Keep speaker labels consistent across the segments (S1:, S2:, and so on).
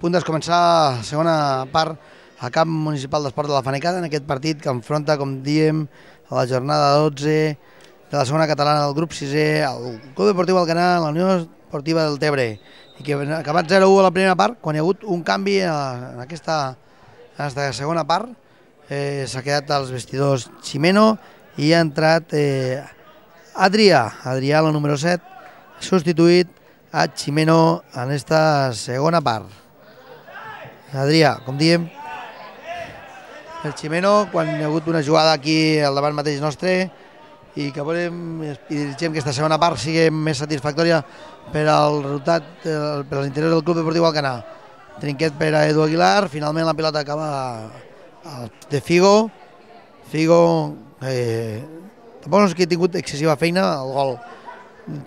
S1: punt de començar la segona part al camp municipal d'esport de la Fanecada, en aquest partit que enfronta, com diem, a la jornada 12 de la segona catalana del grup 6è, el Club Deportiu Alcanar, la Unió Esportiva del Tebre, i que ha acabat 0-1 a la primera part, quan hi ha hagut un canvi en aquesta segona part. S'ha quedat als vestidors Ximeno i ha entrat Adrià, la número 7, substituït a Ximeno en aquesta segona part. Adrià, com diem, el Ximeno, quan hi ha hagut una jugada aquí al davant mateix nostre i que volem i dirigim que aquesta segona part sigui més satisfactòria per al resultat, per l'interior del Club Deportiu Alcanar. Trinquet per a Edu Aguilar, finalment la pilota acaba de Figo. Figo tampoc no és que ha tingut excessiva feina, el gol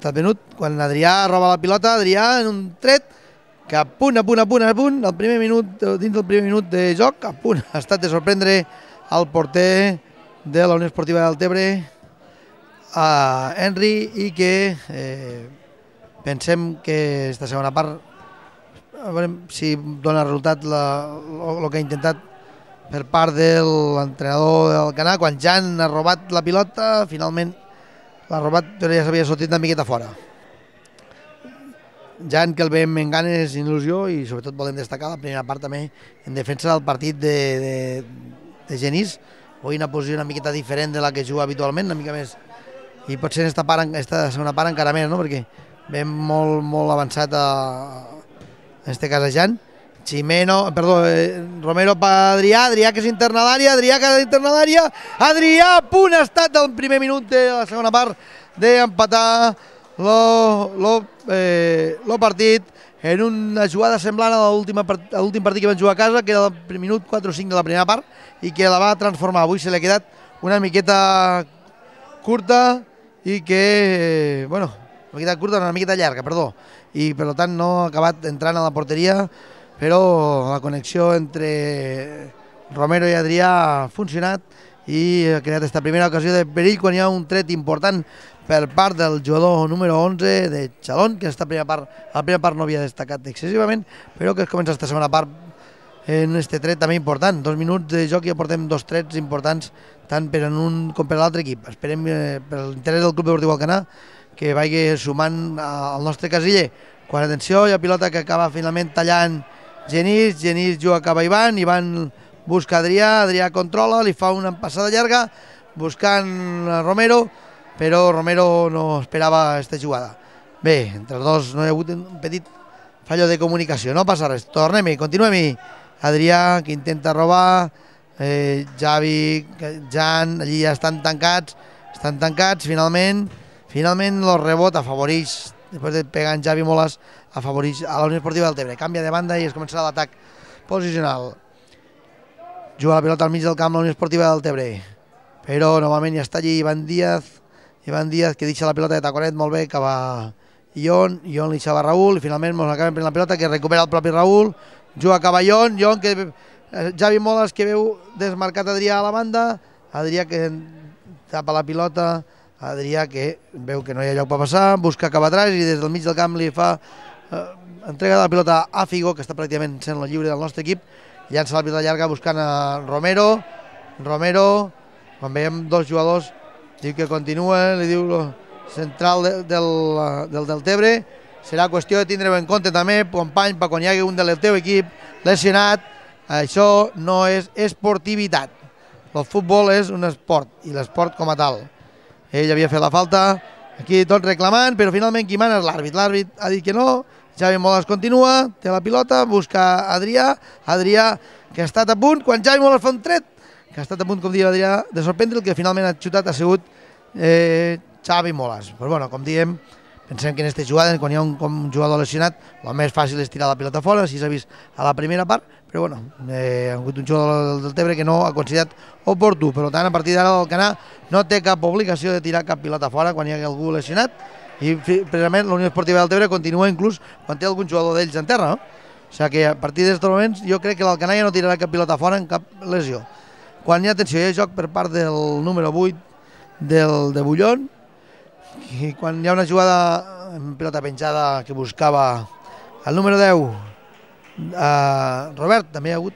S1: t'ha venut quan Adrià roba la pilota. Adrià en un tret que a punt, al primer minut, dins del primer minut de joc, a punt ha estat de sorprendre el porter de la Unió Esportiva del Tebre, a Henry, i que pensem que aquesta segona part, a veure si dona resultat el que ha intentat per part de l'entrenador del Alcanar, quan Jan ha robat la pilota, finalment l'ha robat però ja s'havia sortit una miqueta fora. Jan, que el veiem amb ganes i il·lusió, i sobretot volem destacar la primera part també en defensa del partit de Genís. Avui una posició una miqueta diferent de la que juga habitualment, una mica més, i potser en aquesta segona part encara més, no? Perquè veiem molt avançat en aquest cas a Jan. Romero per Adrià, que és interna a l'àrea, Adrià, a punt ha estat el primer minut de la segona part d'empatar el partit en una jugada semblant a l'últim partit que van jugar a casa, que era el minut 4 o 5 de la primera part, i que la va transformar. Avui se li ha quedat una miqueta curta i que, una miqueta llarga, i per tant no ha acabat entrant a la porteria, però la connexió entre Romero i Adrià ha funcionat i ha creat aquesta primera ocasió de perill quan hi ha un tret important per part del jugador número 11 de Xalón, que a la primera part no havia destacat excessivament, però que es comença aquesta segona part en aquest tret també important. 2 minuts de joc i ja portem 2 trets importants tant per en un com per l'altre equip. Esperem per l'interès del Club Deportiu Alcanar que vagi sumant al nostre casiller. Quan, atenció, hi ha pilota que acaba finalment tallant Genís juga cap a Ivan busca Adrià controla, li fa una passada llarga buscant Romero, però Romero no esperava aquesta jugada. Bé, entre els dos no hi ha hagut un petit fallo de comunicació, no passa res, tornem-hi, continuem-hi. Adrià, que intenta robar, Javi, Jan, allí ja estan tancats, finalment el rebot afavoreix, després de pegar en Javi Molas, afavoreix a la Unió Esportiva del Tebre. Canvia de banda i es començarà l'atac posicional. Juga la pilota al mig del camp la Unió Esportiva del Tebre, però novament ja està allí Ivan Díaz, que deixa la pilota de taconet molt bé cap a Ion li deixava a Raúl, i finalment ens acaben prenent la pilota, que recupera el propi Raúl, juga cap a Ion, que Javi Molas, que veu desmarcat Adrià a la banda, Adrià que tapa la pilota, Adrià que veu que no hi ha lloc per passar, busca cap atrás i des del mig del camp li fa entrega la pilota a Figo, que està pràcticament sent la lliure del nostre equip, llança la pilota llarga buscant a Romero, quan veiem dos jugadors, diu que continua, li diu central del Tebre, serà qüestió de tindre-ho en compte també, company, per quan hi hagi un del teu equip lesionat. Això no és esportivitat, el futbol és un esport, i l'esport com a tal. Ell havia fet la falta, aquí tot reclamant, però finalment qui mana és l'àrbit. L'àrbit ha dit que no, Javi Molas continua, té la pilota, busca Adrià, que ha estat a punt, quan Javi Molas fa un tret, que ha estat a punt, com diu Adrià, de sorprendre, el que finalment ha xutat ha sigut Javi Molas. Però bueno, com diem, pensem que en aquesta jugada, quan hi ha un jugador lesionat, el més fàcil és tirar la pilota fora, així s'ha vist a la primera part, però bueno, ha hagut un jugador del Tebre que no ha considerat oportú. Per tant, a partir d'ara l'Alcanar no té cap obligació de tirar cap pilota fora quan hi hagi algú lesionat, i precisament la Unió Esportiva del Tebre continua inclús quan té algun jugador d'ells en terra, no? O sigui que a partir d'aquests moments jo crec que l'Alcanar ja no tirarà cap pilota fora en cap lesió. Quan hi ha atenció, hi ha joc per part del número 8 de Bullón, i quan hi ha una jugada en pilota penjada que buscava el número 10 Robert, també hi ha hagut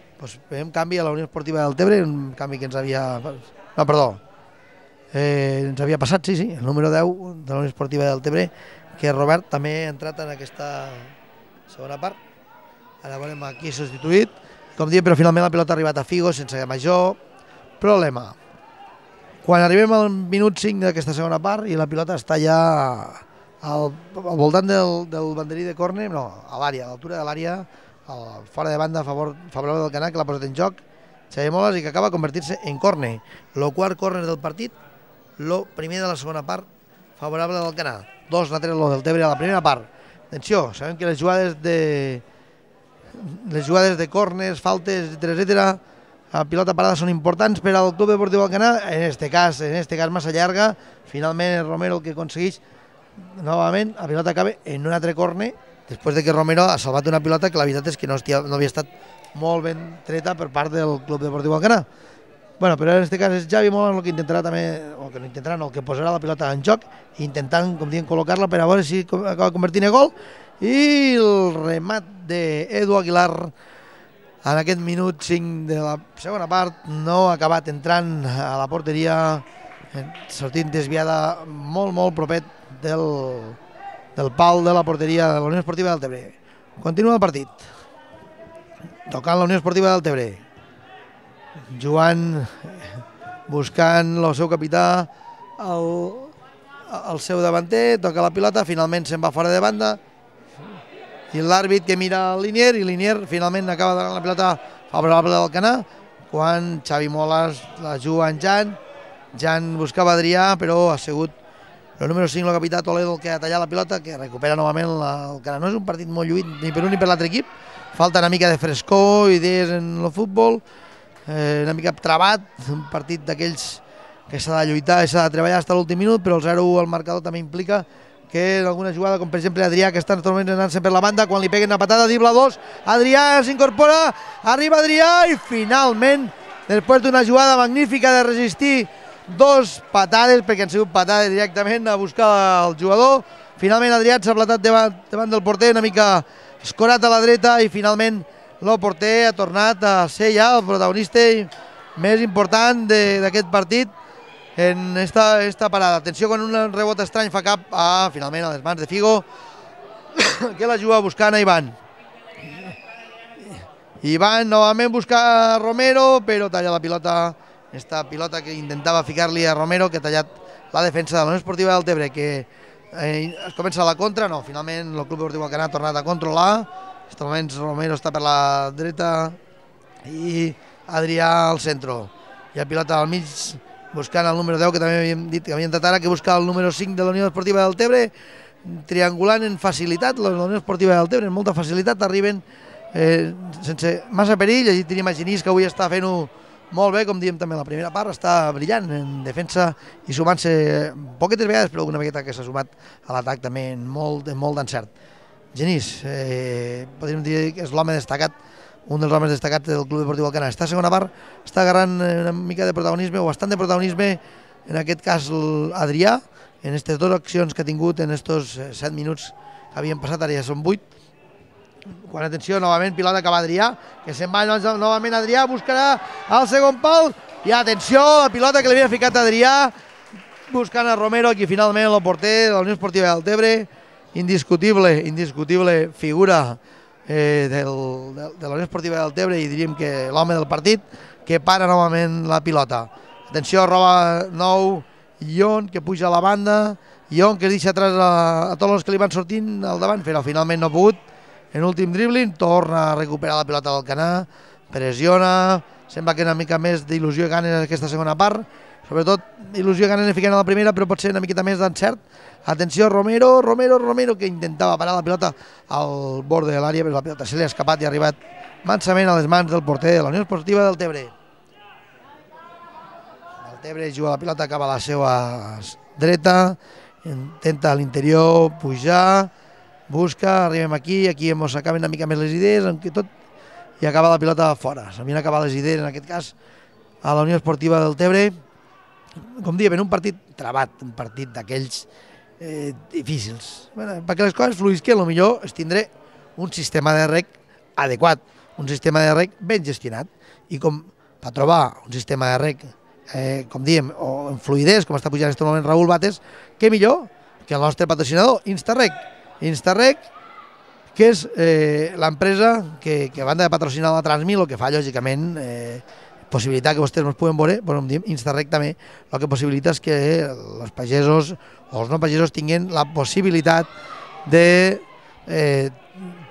S1: un canvi a la Unió Esportiva del Tebre, un canvi que ens havia... No, perdó, ens havia passat, sí, el número 10 de la Unió Esportiva del Tebre, que Robert també ha entrat en aquesta segona part. Ara veurem aquí substituït, com diem, però finalment la pilota ha arribat a Figo sense major problema. Quan arribem al minut 5 d'aquesta segona part i la pilota està ja al voltant del banderí de córner, no, a l'àrea, a l'altura de l'àrea, fora de banda favorable del Canà, que l'ha posat en joc Xavier Moles i que acaba convertir-se en córner. El quart córner del partit, el primer de la segona part favorable del Canà. 2-3 lo del Tebre a la primera part. Atenció, sabem que les jugades de córners, faltes, etcètera, a pilota parada són importants per al Club Deportiu Alcanar, en este cas massa llarga. Finalment Romero el que aconsegueix novament, la pilota acaba en un altre córner, després de que Romero ha salvat una pilota que la veritat és que no havia estat molt ben treta per part del Club Deportiu Alcanar. Bueno, però en aquest cas és Xavi Moles el que intentarà també, el que posarà la pilota en joc, intentant, com diem, col·locar-la per a veure si acaba convertint en gol. I el remat d'Edu Aguilar en aquest minut 5 de la segona part no ha acabat entrant a la porteria, sortint desviada molt propet del pal de la porteria de la Unió Esportiva del Tebre. Continua el partit. Tocant la Unió Esportiva del Tebre. Joan buscant el seu capità, el seu davanter, toca la pilota, finalment se'n va fora de banda i l'àrbit que mira el Linier, i Linier finalment acaba donant la pilota favorable del Canà, quan Xavi Moles la juga en Jan buscava Adrià, però ha sigut el número 5, el capità Toledo, el que ha tallat la pilota, que recupera novament el Canà. No és un partit molt lluït ni per un ni per l'altre equip, falta una mica de frescor, idees en el futbol, una mica trabat, un partit d'aquells que s'ha de lluitar i s'ha de treballar fins a l'últim minut, però el 0-1 al marcador també implica que en alguna jugada, com per exemple Adrià, que està en aquests moments anant-se per la banda, quan li peguen una patada, dribla 2, Adrià s'incorpora, arriba Adrià i finalment, després d'una jugada magnífica de resistir 2 patades, perquè han sigut patades directament a buscar el jugador, finalment Adrià s'ha platat davant del porter, una mica escorat a la dreta, i finalment el porter ha tornat a ser ja el protagonista més important d'aquest partit en esta parada. Atenció, quan un rebot estrany fa cap finalment a les mans de Figo, que la juga buscant a Ivan. Ivan novament busca a Romero, però talla la pilota, esta pilota que intentava ficar-li a Romero, que ha tallat la defensa de la Unió Esportiva del Tebre, que es comença la contra, no, finalment el Club Deportiu Alcanar ha tornat a controlar. En aquests moments Romero està per la dreta i Adrià al centre. Hi ha pilota al mig buscant el número 10, que també havíem dit que havia entrat ara, que busca el número 5 de la Unió Esportiva del Tebre, triangulant en facilitat, la Unió Esportiva del Tebre, en molta facilitat, arriben sense massa perill. Allí tenim a Genís, que avui està fent-ho molt bé, com diem també a la primera part, està brillant en defensa i sumant-se poquetes vegades, però alguna vegada que s'ha sumat a l'atac també en molt d'encert. Genís, podríem dir que és l'home destacat, un dels homes destacats del Club Deportiu Alcanar. Esta segona part està agarrant una mica de protagonisme, o bastant de protagonisme, en aquest cas Adrià, en aquestes 2 accions que ha tingut en aquests 7 minuts que havien passat, ara ja són 8. Quan, atenció, novament pilota cap a Adrià, que se'n va novament Adrià, buscarà el segon pal, i atenció, la pilota que li havia ficat Adrià, buscant a Romero, aquí finalment el porter de la Unió Esportiva del Tebre, indiscutible figura de la Unió Esportiva del Tebre, i diríem que l'home del partit, que para novament la pilota. Atenció, roba nou Ion, que puja a la banda, Ion que deixa atrás a tots els que li van sortint al davant, però finalment no ha pogut. En últim dribbling torna a recuperar la pilota del Canà, pressiona, sembla que una mica més d'il·lusió i ganes en aquesta segona part, sobretot il·lusió i ganes en ficar a la primera, però pot ser una miqueta més d'encert. Atenció, Romero, que intentava parar la pilota al bord de l'àrea, però la pilota se li ha escapat i ha arribat mansament a les mans del porter de la Unió Esportiva del Tebre. El Tebre juga la pilota cap a la seva dreta, intenta a l'interior pujar, busca, arribem aquí ens acaben una mica més les idees, i acaba la pilota fora. S'havien acabat les idees, en aquest cas, a la Unió Esportiva del Tebre. Com diem, en un partit trabat, un partit d'aquells difícils. Perquè les coses fluïsquen, potser es tindré un sistema de rec adequat, un sistema de rec ben gestionat. I com per trobar un sistema de rec, com diem, o en fluidesa, com està pujant en aquest moment Raül Bates, què millor que el nostre patrocinador, Instarrec. Instarrec, que és l'empresa que a banda de patrocinar la Transmil, el que fa, lògicament, possibilitar que vostès ens puguen veure, però em diem Instarrec també, el que possibilita és que els pagesos o els no pagesos tinguin la possibilitat de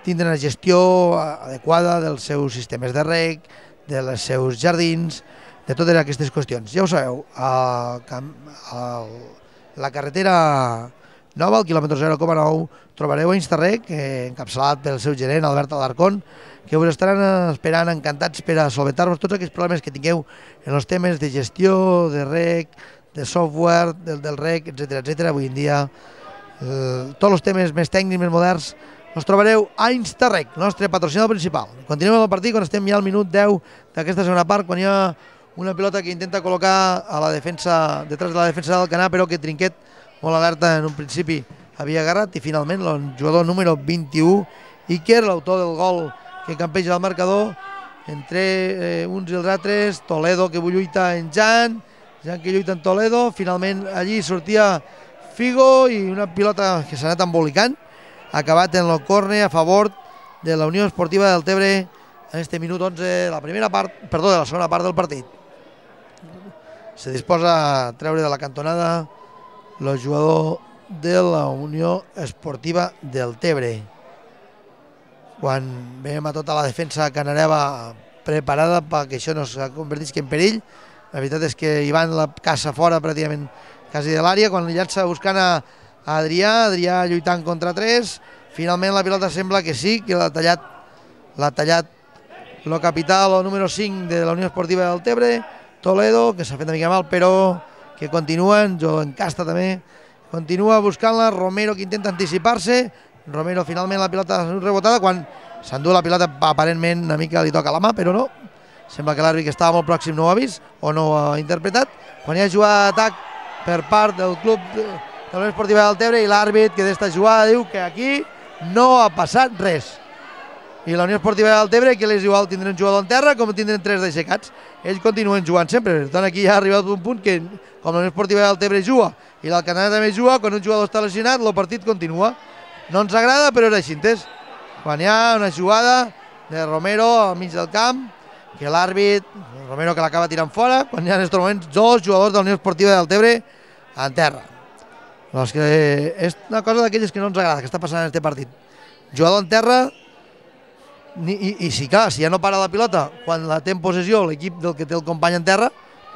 S1: tindre una gestió adequada dels seus sistemes de rec, dels seus jardins, de totes aquestes qüestions. Ja ho sabeu, la carretera nova, al quilòmetre 0,9, trobareu a Instarrec, encapçalat pel seu gerent, Albert Alarcón, que us estaran esperant encantats per a solventar-vos tots aquests problemes que tingueu en els temes de gestió, de rec, de software, del rec, etc. Avui en dia, tots els temes més tècnics, més moderns, els trobareu a Instarrec, el nostre patrocinador principal. Continuem el partit quan estem ja al minut 10 d'aquesta segona part, quan hi ha una pilota que intenta col·locar a la defensa, detrás de la defensa del Canà, però que Trinquet, molt alerta en un principi, havia agarrat, i finalment el jugador número 21, Iker, l'autor del gol que campeja al marcador, entre uns i els altres, Toledo que lluita en Jan que lluita en Toledo, finalment allí sortia Figo i una pilota que s'ha anat embolicant, acabat en el córner a favor de la Unió Esportiva del Tebre en este minut 11 de la segona part del partit. Se disposa a treure de la cantonada el jugador de la Unió Esportiva del Tebre. Quan veiem a tota la defensa canareva preparada perquè això no es convertisca en perill, la veritat és que hi van la caça fora pràcticament quasi de l'àrea, quan llança buscant a Adrià lluitant contra 3, finalment la pilota sembla que sí, que l'ha tallat el capità, el número 5 de la Unió Esportiva del Tebre, Toledo, que s'ha fet una mica mal, però que continuen, jo encasta també, continua buscant-la, Romero que intenta anticipar-se, Romero finalment la pilota rebotada, quan s'endú la pilota aparentment una mica li toca la mà, però no, sembla que l'àrbit que estava molt pròxim no ho ha vist o no ho ha interpretat, quan hi ha jugada d'atac per part del club de la Unió Esportiva del Tebre i l'àrbit que d'esta jugada diu que aquí no ha passat res. I la Unió Esportiva del Tebre, que és igual tindrem un jugador en terra com tindrem 3 d'aixecats. Ells continuen jugant sempre. Per tant, aquí ja ha arribat un punt que, com la Unió Esportiva del Tebre juga i l'Alcanar també juga, quan un jugador està lesionat, el partit continua. No ens agrada, però era així, entès? Quan hi ha una jugada de Romero al mig del camp, que l'àrbit, Romero que l'acaba tirant fora, quan hi ha en aquests moments 2 jugadors de la Unió Esportiva del Tebre en terra. Doncs que és una cosa d'aquelles que no ens agrada, que està passant en aquest partit. Jugador en terra, i si clar, si ja no para la pilota quan la té en possessió l'equip del que té el company en terra,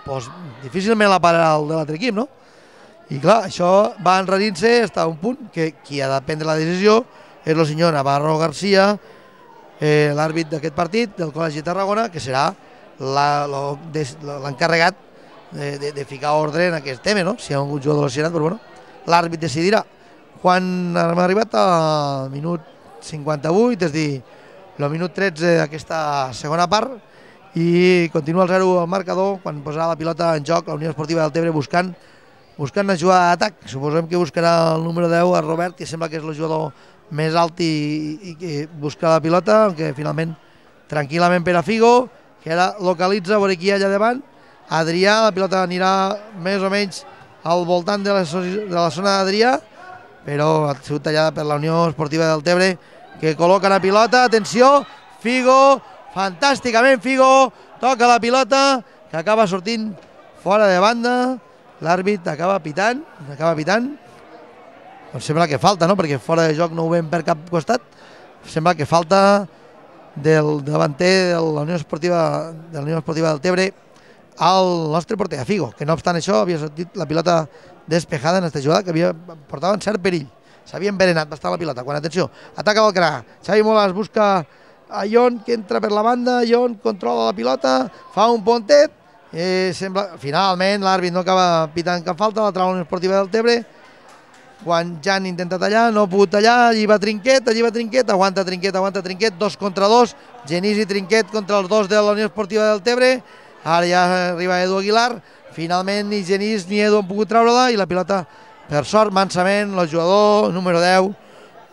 S1: doncs difícilment la pararà el de l'altre equip, no? I clar, això va enrarint-se fins a un punt que qui ha de prendre la decisió és el senyor Navarro García, l'àrbit d'aquest partit del Col·legi de Tarragona, que serà l'encarregat de ficar ordre en aquest tema, no? Si hi ha un jugador lesionat, però bueno, l'àrbit decidirà. Quan hem arribat al minut 58, és a dir, el minut 13 d'aquesta segona part, i continua el 0 al marcador, quan posarà la pilota en joc la Unió Esportiva del Tebre buscant una jugada d'atac. Suposem que buscarà el número 10, el Robert, que sembla que és el jugador més alt i que busca la pilota, aunque finalment tranquil·lament per a Figo, que ara localitza, veure qui hi ha allà davant, Adrià, la pilota anirà més o menys al voltant de la zona d'Adrià, però ha sigut tallada per la Unió Esportiva del Tebre, que col·loca la pilota, atenció, Figo, fantàsticament Figo, toca la pilota, que acaba sortint fora de banda, l'àrbit acaba pitant, doncs sembla que falta, no?, perquè fora de joc no ho veiem per cap costat, sembla que falta del davanter de la Unió Esportiva del Tebre al nostre porter, a Figo, que no obstant això havia sortit la pilota despejada en aquesta jugada, que portava en cert perill. S'havia enverenat bastant la pilota. Quan, atenció, ataca Balcarà, Xavi Molas busca a Ion, que entra per la banda, Ion controla la pilota, fa un pontet, finalment l'àrbit no acaba pitant cap falta, la trau la Unió Esportiva del Tebre, quan Jan intenta tallar, no ha pogut tallar, allí va Trinquet, aguanta Trinquet, 2 contra 2, Genís i Trinquet contra els 2 de la Unió Esportiva del Tebre, ara ja arriba Edu Aguilar, finalment ni Genís ni Edu han pogut treure-la i la pilota, per sort, mansament, el jugador número 10,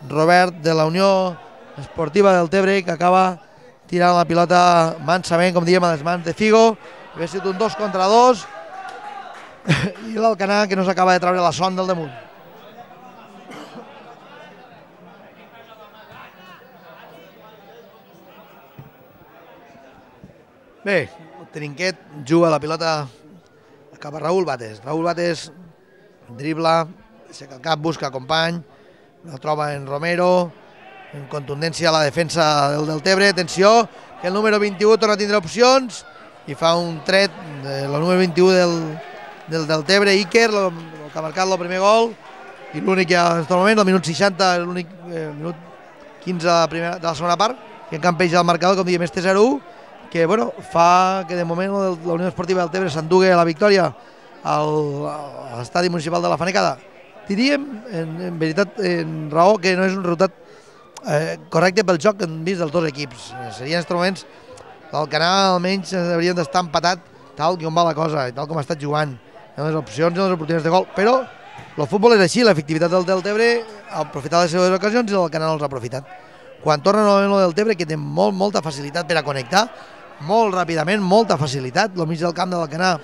S1: Robert, de la Unió Esportiva del Tebre, que acaba tirant la pilota mansament, com diem, a les mans de Figo. Havia sigut un 2 contra 2 i l'Alcanar que no s'acaba de treure la son del damunt. Bé, Trinquet juga la pilota cap a Raúl Bates. Raúl Bates dribla, aixeca el cap, busca company, la troba en Romero, en contundència a la defensa del Deltebre. Atenció, que el número 21 torna a tindre opcions i fa un tret del número 21 del Deltebre, Iker, que ha marcat el primer gol, i l'únic que en aquest moment, el minut 60, l'únic minut 15 de la segona part, que encampeja el marcador, com diem, este 0-1, que bueno, fa que de moment la Unió Esportiva del Deltebre s'endugui la victòria a l'estadi municipal de la Fanecada. Diríem, en veritat, en raó, que no és un resultat correcte pel joc que han vist dels dos equips. Serien en aquests moments l'Alcanar almenys haurien d'estar empatat tal com va la cosa i tal com ha estat jugant en les opcions i en les oportunitats de gol, però el futbol és així, l'efectivitat del Deltebre ha aprofitat les seves ocasions i l'Alcanar no els ha aprofitat. Quan torna novament el Deltebre, que té molta facilitat per a connectar, molt ràpidament, molta facilitat, el mig del camp de l'Alcanar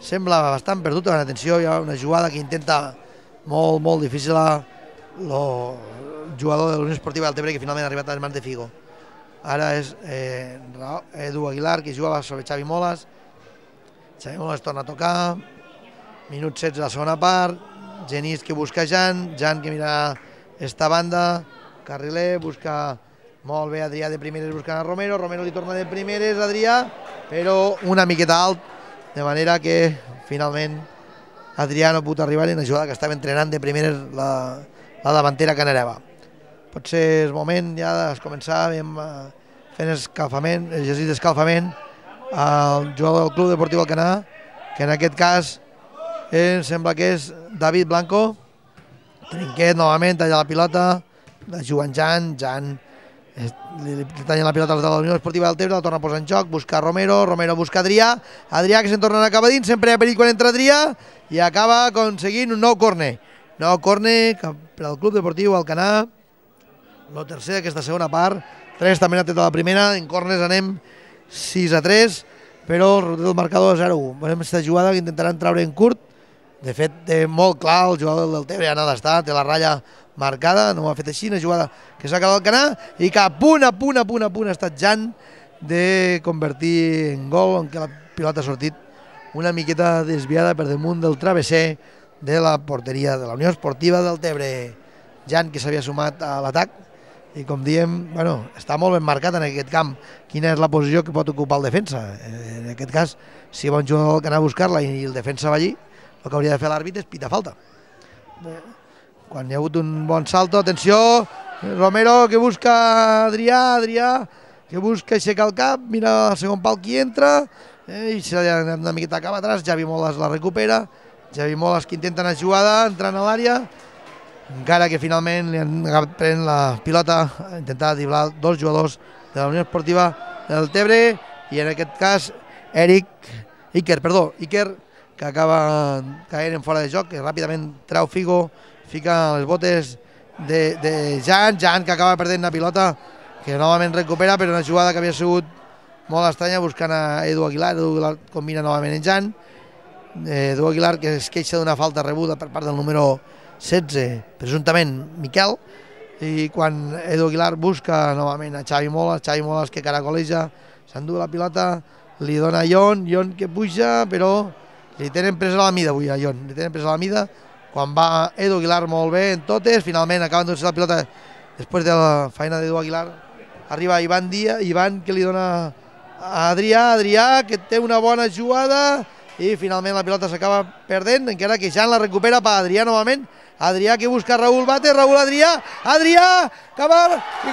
S1: sembla bastant perdut. Atenció, hi ha una jugada que intenta molt difícil el jugador de l'Unió Esportiva del Deltebre, que finalment ha arribat a les mans de Figo. Ara és Edu Aguilar, que jugava sobre Xavi Molas. Xavi Molas torna a tocar, minut 16 de la segona part, Genís que busca Jan que mira esta banda, Carriler busca molt bé Adrià de primeres buscant a Romero li torna de primeres a Adrià, però una miqueta alt, de manera que finalment Adrià no pot arribar en la jugada que estava entrenant de primeres la davantera canareva. Potser és moment ja de començar fent escalfament, exercici d'escalfament al jugador del Club Deportiu Alcanar, que en aquest cas em sembla que és David Blanco. Trinquet novament talla la pilota, la juga en Jan li talla la pilota de la Unió Esportiva del Deltebre, la torna a posar en joc, busca Romero busca Adrià que se'n torna a acabar dins, sempre hi ha perill quan entra Adrià i acaba aconseguint un nou córner per al Club Deportiu Alcanar, el tercer d'aquesta segona part. 3 també n'ha tret a la primera, en córners anem 6-3, però el marcador és 0-1. Veurem aquesta jugada que intentaran treure en curt. De fet, té molt clar el jugador del Deltebre on ha d'estar, té la ratlla marcada, no ho ha fet així, una jugada que s'ha quedat al Alcanar i que a punt ha estat Jan de convertir en gol, en què la pilota ha sortit una miqueta desviada per damunt del travesser de la porteria de la Unió Esportiva del Deltebre. Jan, que s'havia sumat a l'atac, i com diem, bueno, està molt ben marcat en aquest camp quina és la posició que pot ocupar el defensa. En aquest cas, si va un jugador que anava a buscar-la i el defensa va allí, el que hauria de fer l'àrbitre és pitar falta. Quan hi ha hagut un bon salto, atenció, Romero que busca Adrià que busca aixecar el cap, mira el segon pal qui entra, i se li ha anat una miqueta cap atrás, Xavi Molas la recupera, Xavi Molas que intenta anar jugada, entrant a l'àrea, encara que finalment li han pren la pilota a intentar driblar dos jugadors de la Unió Esportiva del Deltebre, i en aquest cas Iker, que acaba caient en fora de joc, que ràpidament treu Figo, fica les botes de Jan que acaba perdent la pilota, que novament recupera, però una jugada que havia sigut molt estranya, buscant a Edu Aguilar combina novament en Jan, Edu Aguilar que es queixa d'una falta rebuda per part del número 16, presumptament Miquel, i quan Edu Aguilar busca novament a Xavi Molas que caracoleja, s'endú la pilota, li dona a Ion que puja, però li tenen presa la mida avui a Ion, quan va Edu Aguilar molt bé en totes, finalment acaben d'endur la pilota després de la feina d'Edu Aguilar, arriba Ivan que li dona a Adrià que té una bona jugada i finalment la pilota s'acaba perdent, encara que Jan la recupera per Adrià novament, Adrià que busca Raúl Bates, Adrià que va, i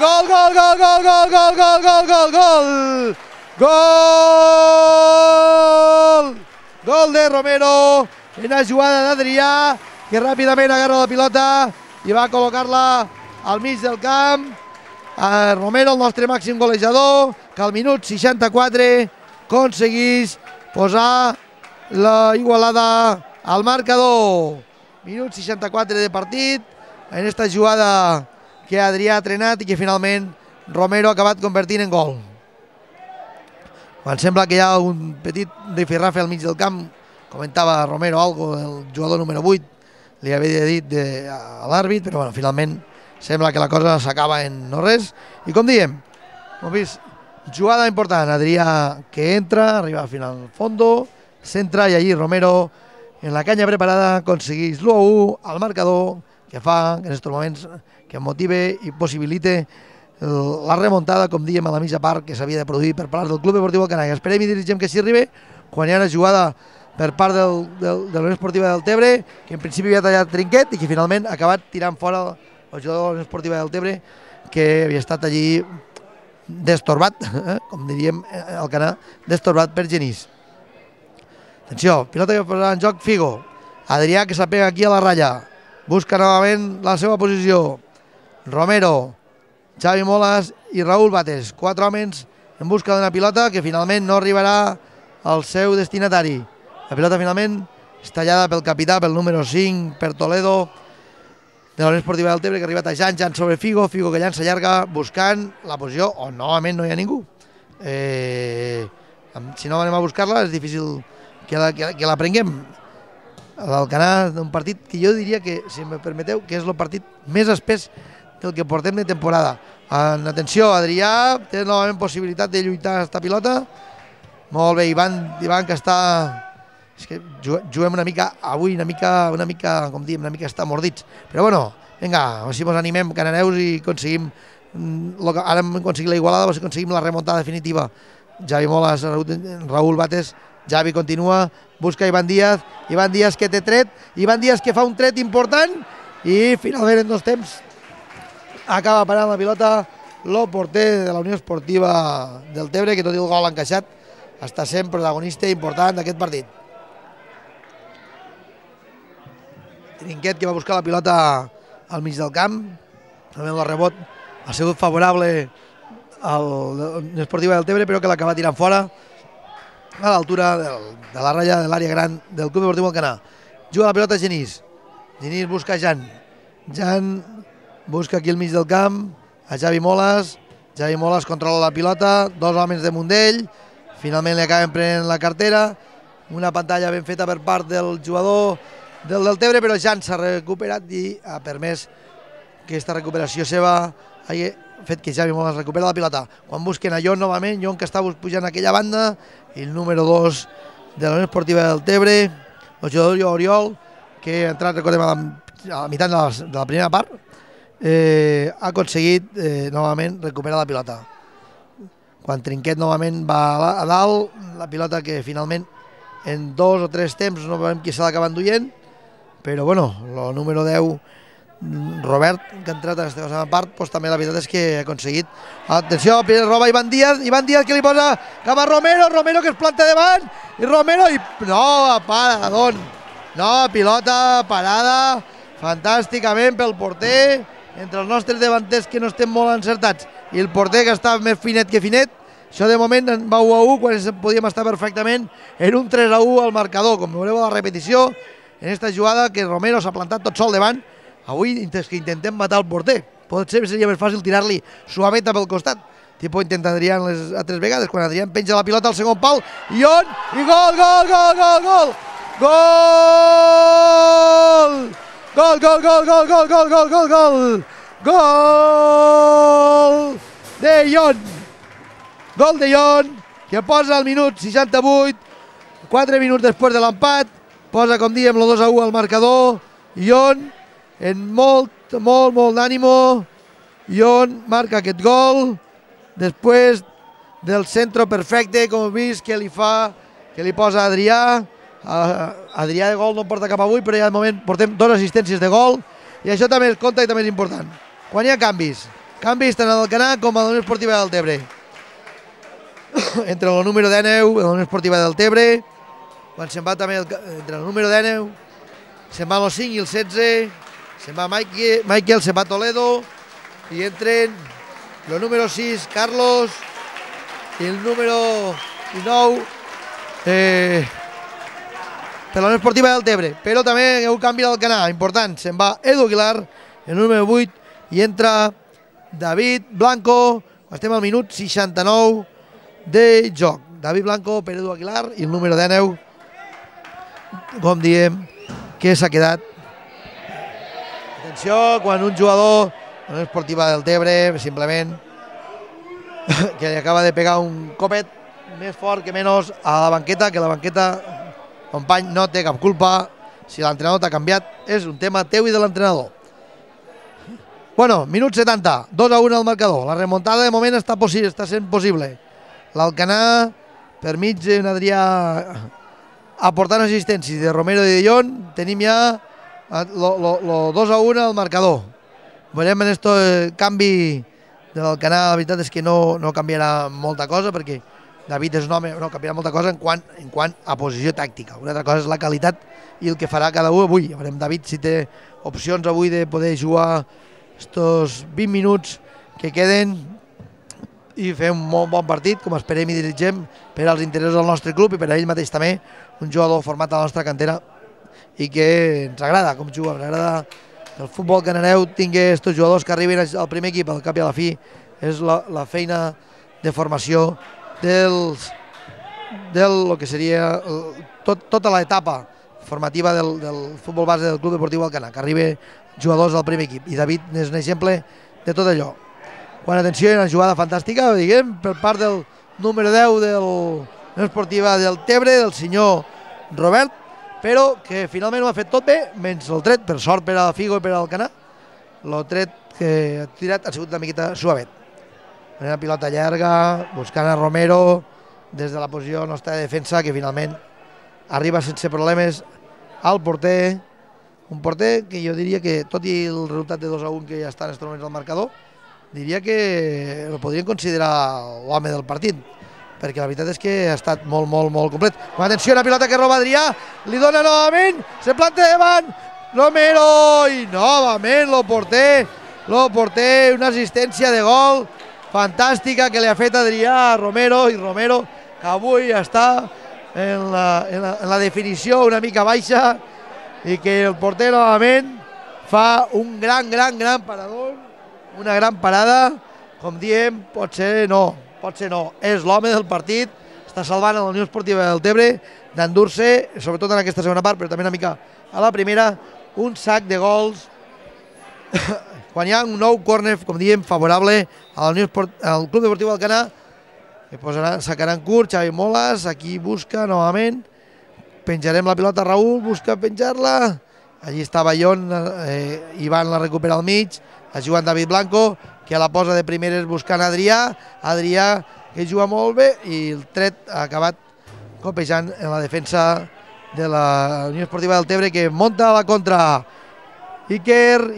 S1: gol de Romero en la jugada d'Adrià, que ràpidament agarra la pilota i va col·locar-la al mig del camp. Romero, el nostre màxim golejador, que al minut 64 aconseguís posar la igualada al marcador. Minut 64 de partit, en esta jugada que Adrià ha trenat i que finalment Romero ha acabat convertint en gol. quan sembla que hi ha un petit rifirrafe al mig del camp, comentava Romero algo, el jugador número 8, li havia dit a l'àrbit, però bueno, finalment sembla que la cosa s'acaba en no res. I com diem, hem vist jugada important, Adrià que entra, arriba al final fondo, centra i allí Romero en la canya preparada aconsegueix l'1-1 al marcador, que fa que en aquests moments que motive i possibilite la remuntada, com diem, a la mitja part que s'havia de produir per part del Club Deportiu Alcanar. Esperem i desitgem que s'hi arribi quan hi ha una jugada per part de la Unió Esportiva Deltebre, que en principi havia tallat Trinquet i que finalment ha acabat tirant fora el jugador de la Unió Esportiva Deltebre, que havia estat allí destorbat, com diríem Alcanar, destorbat per Genís. Atenció, pilota que posa en joc Figo. Adrià que s'apega aquí a la ratlla. Busca novament la seva posició. Romero, Xavi Molas i Raúl Bates. 4 homes en busca d'una pilota que finalment no arribarà al seu destinatari. La pilota finalment és tallada pel capità, pel número 5, per Toledo, de la Unió Esportiva Deltebre, que ha arribat a Jan sobre Figo. Figo que llança llarga buscant la posició on novament no hi ha ningú. Si no anem a buscar-la és difícil que la prenguem. L'Alcanar, d'un partit que jo diria que, si em permeteu, que és el partit més espès del que portem de temporada. Atenció, Adrià té novament possibilitat de lluitar aquesta pilota. Molt bé, Ivan que està... És que juguem una mica avui, una mica, com diem, una mica està mordits. Però bueno, vinga, a veure si ens animem, cananeus, i aconseguim... Ara hem aconseguit la igualada, a veure si aconseguim la remuntada definitiva. Xavi Molas, Raúl Bates, Xavi continua, busca Ivan Díaz que té tret, Ivan Díaz que fa un tret important i finalment en 2 temps acaba parant la pilota el porter de la Unió Esportiva Deltebre, que tot i el gol encaixat està sent protagonista important d'aquest partit. Trinquet que va buscar la pilota al mig del camp, també el rebot ha sigut favorable a la Unió Esportiva Deltebre, però que l'acaba tirant fora a l'altura de la ratlla de l'àrea gran del Club Deportiu Alcanar. Juga la pilota Genís. Genís busca Jan busca aquí al mig del camp a Xavi Molas. Xavi Molas controla la pilota, 2 homes de Mundell, finalment li acaben prenent la cartera. Una pantalla ben feta per part del jugador del Deltebre, però Jan s'ha recuperat i ha permès que aquesta recuperació seva hagi fet que Xavi Molas recupera la pilota. Quan busquen a Jon novament, Jon que està pujant a aquella banda, i el número 2 de la Unió Esportiva Deltebre, el jugador Oriol, que ha entrat, recordem, a la meitat de la primera part, ha aconseguit novament recuperar la pilota. Quan Trinquet novament va a dalt, la pilota que finalment en 2 o 3 temps no veiem qui se l'acaba enduient, però bueno, el número 10, Robert, que ha entrat a aquesta segona part, doncs també la veritat és que ha aconseguit. Atenció, roba Ivan Díaz que li posa cap a Romero que es planta davant, i Romero, no, para, no, pilota parada fantàsticament pel porter, entre els nostres davanters que no estem molt encertats i el porter que està més finet que finet. Això de moment va 1-1 quan podíem estar perfectament en un 3-1 al marcador, com veureu a la repetició, en aquesta jugada que Romero s'ha plantat tot sol davant. Avui que intentem matar el porter, potser seria més fàcil tirar-li suaveta pel costat, tipus intenta Adrián les altres vegades, quan Adrián penja la pilota al segon pal, i gol, gol, gol, gol, gol, gol, gol de Jon, que posa al minut 68, 4 minuts després de l'empat, posa, com diem, el 2-1 al marcador. Jon, en molt d'ànimo, Jon marca aquest gol després del centre perfecte, com heu vist, que li posa Adrià. Adrià de gol no porta cap avui, però ja de moment portem 2 assistències de gol, i això també es compta i també és important. Quan hi ha canvis tant a l'Alcanar com a la Unió Esportiva Deltebre. Entre el número 19 i la Unió Esportiva Deltebre, quan se'n va també entre el número 19, se'n va el 5 i el 16, se'n va Michael, se'n va Toledo, i entren el número 6, Carlos, i el número 19 per la Unió Esportiva Deltebre. Però també hi ha un canvi al Alcanar, important, se'n va Edu Aguilar, el número 8, i entra David Blanco, estem al minut 69 de joc. David Blanco, Pere Edu Aguilar i el número 19, com diem, que s'ha quedat. Atenció, quan un jugador de la Esportiva del Tebre, simplement, que li acaba de pegar un copet més fort que menys a la banqueta, que la banqueta, company, no té cap culpa. Si l'entrenador t'ha canviat, és un tema teu i de l'entrenador. Bueno, minut 70, 2-1 al marcador. La remuntada de moment està sent possible. L'Alcanar, per mig d'un Adrià aportant assistències de Romero i de Jong, tenim ja el 2-1 al marcador. Veurem en aquest canvi de l'Alcanar. La veritat és que no canviarà molta cosa, perquè David és un home, no canviarà molta cosa en quant a posició tàctica. Una altra cosa és la qualitat i el que farà cada un avui. Veurem David si té opcions avui de poder jugar estos 20 minuts que queden i fer un molt bon partit, com esperem i dirigem, per als interessos del nostre club i per a ell mateix també, un jugador format a la nostra cantera i que ens agrada com juga, ens agrada que el futbol canareu tingui aquests jugadors que arriben al primer equip. Al cap i a la fi és la feina de formació del que seria tota l'etapa formativa del futbol base del Club Deportiu Alcanar, que arriba jugadors al primer equip, i David és un exemple de tot allò. Quan, atenció, hi ha una jugada fantàstica, diguem, per part del número 10 de la Esportiva del Tebre, del senyor Robert, però que finalment ho ha fet tot bé, menys el tret, per sort per a Figo i per a Alcanar. El tret que ha tirat ha sigut una miqueta suavet. Una pilota llarga, buscant a Romero des de la posició nostra de defensa, que finalment arriba sense problemes al porter. Un porter que jo diria que, tot i el resultat de 2-1 que ja està en aquests moments al marcador, diria que el podrien considerar l'home del partit, perquè la veritat és que ha estat molt, molt, molt complet. Atenció, una pilota que roba Adrià, li dona novament, se planta davant, Romero, i novament el porter, una assistència de gol fantàstica que li ha fet Adrià a Romero, i Romero, que avui està en la definició una mica baixa, i que el porter novament fa un gran parador, una gran parada, com diem, pot ser no, és l'home del partit, està salvant a la Unió Esportiva del Tebre d'endur-se, sobretot en aquesta segona part, però també una mica a la primera, un sac de gols, quan hi ha un nou córner, com diem, favorable al Club Deportiu Alcanar, que sacaran curt, Xavi Molas, aquí busca novament, penjarem la pilota, Raül busca penjar-la, allí estava Jon, Ivan la recupera al mig, ha jugat David Blanco, que la posa de primeres buscant Adrià que juga molt bé, i el tret ha acabat copejant en la defensa de la Unió Esportiva del Tebre, que monta la contra. Iker,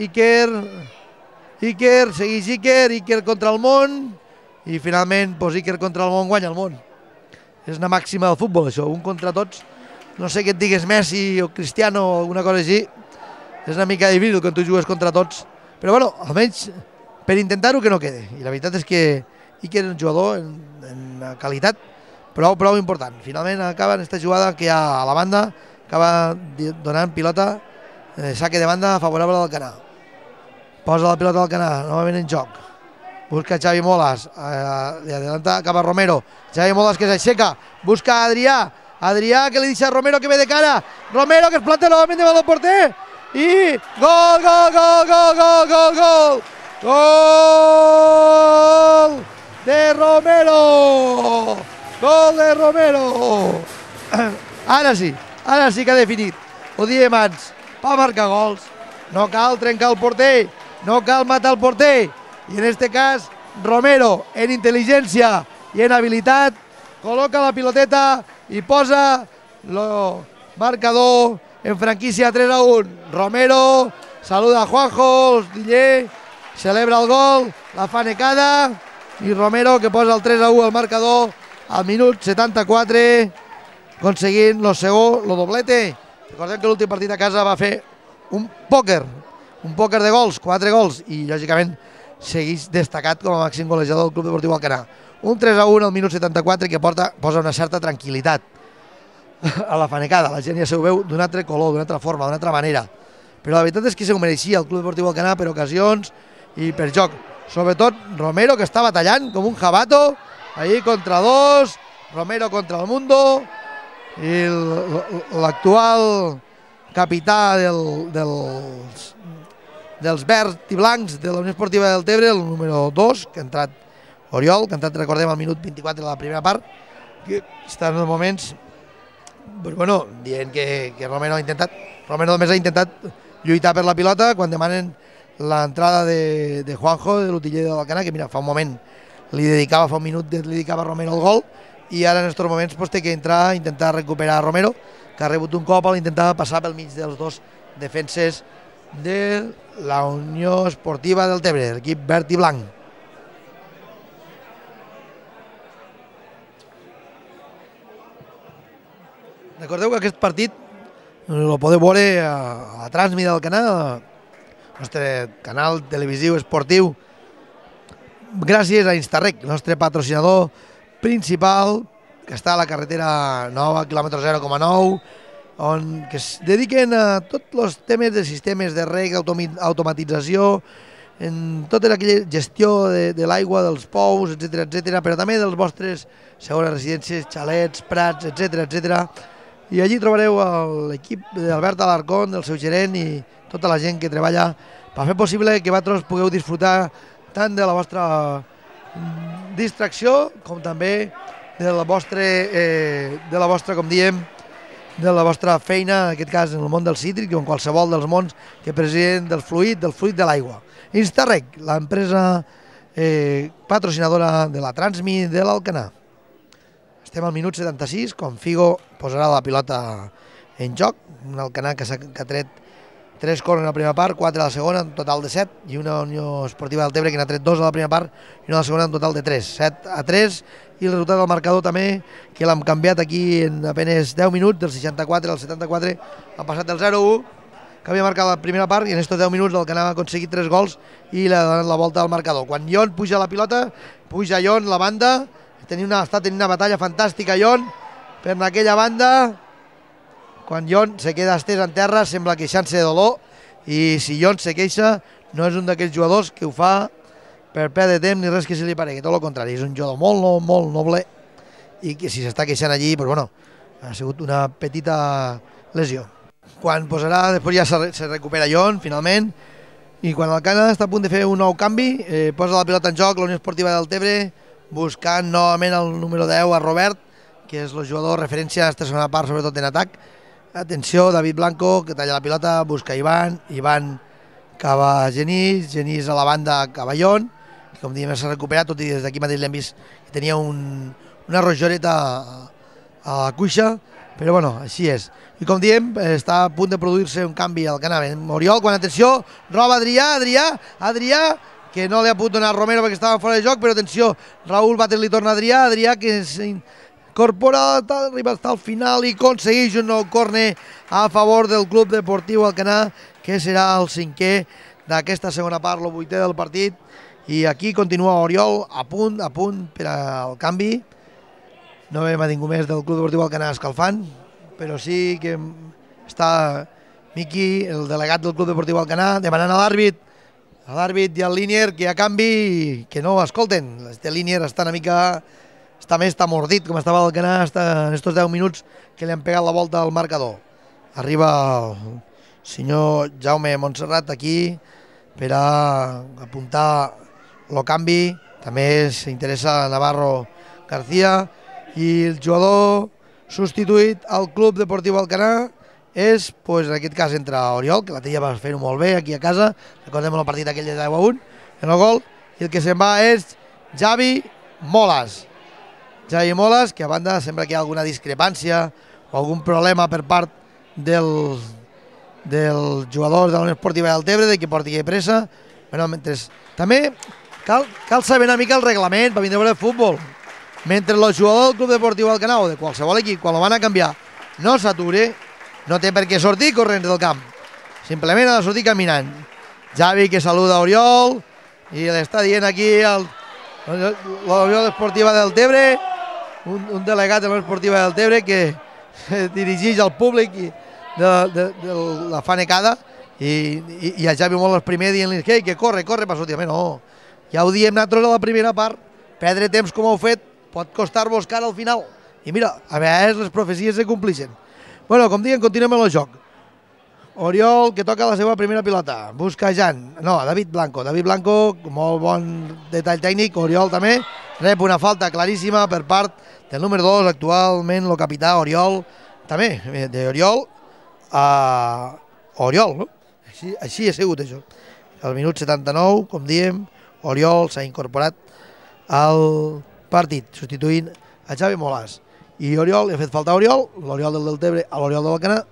S1: segueix Iker contra el món, i finalment Iker contra el món guanya el món. És una màxima del futbol, això, un contra tots. No sé què et digues, Messi o Cristiano o alguna cosa així, és una mica difícil quan tu jugues contra tots, però bueno, almenys per intentar-ho que no quede. I la veritat és que Iker és un jugador en qualitat prou important. Finalment acaba en aquesta jugada que hi ha a la banda, acaba donant pilota, saque de banda favorable al Alcanar. Posa la pilota al Alcanar, novament en joc. Busca Xavi Molas, li adelanta cap a Romero. Xavi Molas que s'aixeca, busca Adrià que li deixa a Romero que ve de cara. Romero que es planta novament davant del porter. I gol! Gol de Romero! Gol de Romero! Ara sí que ha definit. Ho diem abans, per marcar gols no cal trencar el porter, no cal matar el porter. I en aquest cas, Romero, en intel·ligència i en habilitat, col·loca la piloteta i posa el marcador en franquícia 3-1. Romero saluda a Juanjo, Diller, celebra el gol, la fa necada, i Romero que posa el 3-1 al marcador al minut 74, aconseguint el segon, el doblete. Recordem que l'últim partit a casa va fer un pòquer de gols, 4 gols, i lògicament segueix destacat com a màxim golejador del Club Deportiu Alcanar. Un 3-1 al minut 74 que posa una certa tranquil·litat a la fanecada. La gent ja se ho veu d'un altre color, d'una altra forma, d'una altra manera. Però la veritat és que se ho mereixia el Club Deportiu Alcanar per ocasions i per joc. Sobretot Romero, que està batallant com un jabato, ahí contra dos, Romero contra el Mundo, i l'actual capità dels verds i blancs de la Unió Esportiva Deltebre, el número 2, que ha entrat Oriol, que ha entrat, recordem, al minut 24 de la primera part, que està en els moments dient que Romero només ha intentat lluitar per la pilota quan demanen l'entrada de Juanjo, de l'utiller de l'Alcanar, que mira, fa un moment fa un minut li dedicava a Romero el gol, i ara en aquests moments té que entrar a intentar recuperar a Romero, que ha rebut un cop a l'intentar passar pel mig dels dos defenses de la Unió Esportiva Deltebre, l'equip verd i blanc. Recordeu que aquest partit el podeu veure a la transmissió del canal, el nostre canal televisiu esportiu, gràcies a Instarrec, el nostre patrocinador principal, que està a la carretera nova, quilòmetre 0,9, que es dediquen a tots els temes de sistemes de reg, automatització, en tota aquella gestió de l'aigua, dels pous, etc., però també dels vostres segones residències, xalets, prats, etc. I allí trobareu l'equip d'Albert Alarcón, del seu gerent i tota la gent que treballa per fer possible que vosaltres pugueu disfrutar tant de la vostra distracció com també de la vostra, com diem, de la vostra feina, en aquest cas en el món del cítric o en qualsevol dels mons que presiden del fluid de l'aigua. Instarrec, l'empresa patrocinadora de la Transmi de l'Alcanar. Estem al minut 76, quan Figo posarà la pilota en joc, un Alcanar que ha tret 3 corners a la primera part, 4 a la segona, un total de 7, i una Unió Esportiva Deltebre que n'ha tret 2 a la primera part i una a la segona, un total de 3, 7-3, i el resultat del marcador també, que l'hem canviat aquí en apenas 10 minuts, del 64 al 74, ha passat del 0-1, que havia marcat la primera part, i en aquests 10 minuts l'Alcanar ha aconseguit 3 gols i l'ha donat la volta al marcador. Quan Ion puja la pilota, puja Ion la banda, està tenint una batalla fantàstica Ion per aquella banda. Quan Ion se queda estès en terra sembla queixant-se de dolor, i si Ion se queixa no és un d'aquells jugadors que ho fa per perdre temps ni res que se li paregui, tot el contrari, és un jugador molt noble, i que si s'està queixant allí, ha sigut una petita lesió. Quan posarà, després ja se recupera Ion finalment, i quan l'Alcanar està a punt de fer un nou canvi, posa la pilota en joc la Unió Esportiva Deltebre, buscant novament el número 10 a Robert, que és el jugador referència a aquesta segona part, sobretot en atac. Atenció, David Blanco, que talla la pilota, busca Ivan cava Genís a la banda cava Ion, que com diem s'ha recuperat, tot i des d'aquí mateix l'hem vist que tenia una rojoreta a la cuixa, però així és. I com diem, està a punt de produir-se un canvi al Alcanar. Oriol, quan atenció, roba Adrià, que no li ha pogut donar Romero perquè estava fora de joc, però atenció, Raúl Bates li torna a Adrià que s'incorpora, arriba al final i aconsegueix un nou córner a favor del Club Deportiu Alcanar, que serà el 5è d'aquesta segona part, el 8è del partit, i aquí continua Oriol a punt per al canvi. No veiem a ningú més del Club Deportiu Alcanar escalfant, però sí que està Miqui, el delegat del Club Deportiu Alcanar, demanant a l'àrbit i al línier que a canvi que no escolten. Este línier està més mordit com estava l'Alcanar en aquests 10 minuts que li han pegat la volta al marcador. Arriba el senyor Jaume Montserrat aquí per a apuntar el canvi. També s'interessa Navarro García, i el jugador substituït al Club Deportiu Alcanar és, en aquest cas, entre Oriol, que la Tella va fer-ho molt bé aquí a casa, recordem el partit aquell de 10-1, en el gol, i el que se'n va és Javi Molas, que a banda sembla que hi ha alguna discrepància o algun problema per part del jugador de la Unió Esportiva Deltebre, de que porti pressa. També cal saber una mica el reglament per vindre a veure futbol. Mentre el jugador del Club Deportiu Alcanar o de qualsevol equip, quan el van a canviar, no s'ature, no té per què sortir corrents del camp, simplement ha de sortir caminant. Javi, que saluda Oriol i l'està dient aquí la Unió Esportiva Deltebre, un delegat de la Unió Esportiva Deltebre que dirigeix al públic de la fanecada, i a Javi molt el primer dient-li que corre per sortir. No, ja ho diem nosaltres a la primera part, perdre temps com heu fet pot costar-vos cara al final, I mira, a vegades les profecies se complixen. Bueno, com diuen, continuem amb el joc. Oriol, que toca la seva primera pilota. Busca Jan. No, David Blanco. David Blanco, molt bon detall tècnic. Oriol també rep una falta claríssima per part del número 2, actualment el capità Oriol. També, d'Oriol a Oriol, no? Així ha sigut això. Al minut 79, com diem, Oriol s'ha incorporat al partit, substituint a Xavi Molàs. I Oriol, ha fet falta a Oriol, l'Oriol del Deltebre a l'Oriol de l'Alcanar,